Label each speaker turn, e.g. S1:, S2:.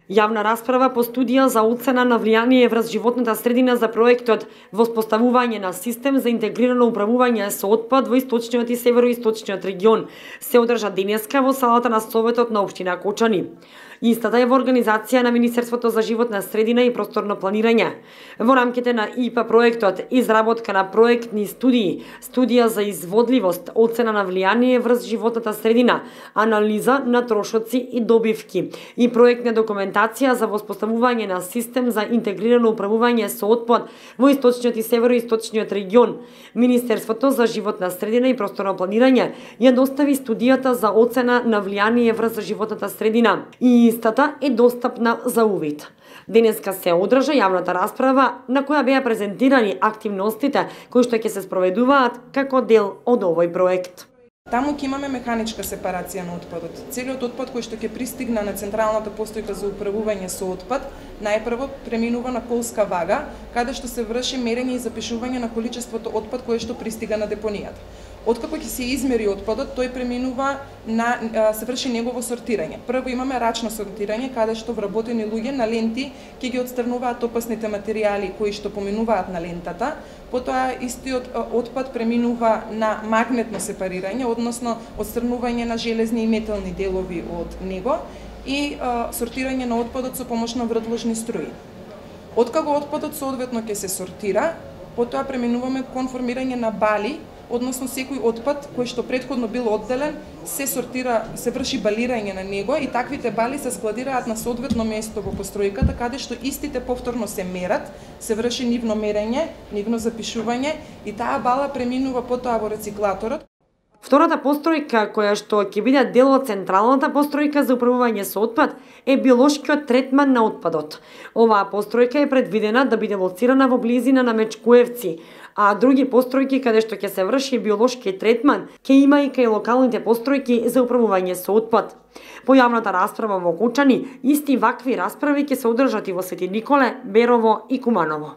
S1: Јавна расправа по студија за оцена на влијание врз животната средина за проектот Воспоставување на систем за интегрирано управување со отпад во источниот и североисточниот регион се одржа денеска во салата на Советот на општина Кочани. Истата е во организација на Министерството за животна средина и просторно планирање. Во рамките на ИПА проектот изработка на проектни студии, студија за изводливост, оцена на влијание врз животната средина, анализа на трошоци и добивки и проектна документација за воспоставување на систем за интегрирано управување со отпад во источниот и североисточниот регион. Министерството за животна средина и просторно планирање ја достави студијата за оцена на влијание врз животната средина и истата е достапна за увид. Денеска се одржа јавната расправа на која беа презентирани активностите кои што ќе се спроведуваат како дел од овој проект.
S2: Таму ќе имаме механичка сепарација на отпадот. Целиот отпад кој што ќе пристигне на централната постојка за управување со отпад, најпрво преминува на колска вага, каде што се врши мерење и запишување на количеството отпад кое што пристига на депонијата. Откако ќе се измери отпадот, тој преминува на се врши негово сортирање. Прво имаме рачно сортирање, каде што вработени луѓе на ленти ќе ги отстрнуваат опасните материјали кои што поминуваат на лентата. Потоа истиот отпад преминува на магнетно сепарирање, односно отстрнување на железни и метални делови од него и сортирање на отпадот со помош на вртложни струи. Откако отпадот соодветно ќе се сортира, потоа преминуваме кон формирање на бали, односно секој отпад кој што претходно бил одделен се сортира, се врши балирање на него и таквите бали се складираат на соодветно место во постројката каде што истите повторно се мерат, се врши нивно мерење, нивно запишување и таа бала преминува потоа во рециклаторот.
S1: Втората постројка која што ќе биде дел од централната постројка за управување со отпад е биолошкиот третман на отпадот. Оваа постројка е предвидена да биде лоцирана во близина на Мечкуевци, а други постројки каде што ќе се врши биолошки третман ќе има и кај локалните постројки за управување со отпад. По јавната расправа во Кочани, исти вакви расправи ќе се одржат и во Свети Николе, Берово и Куманово.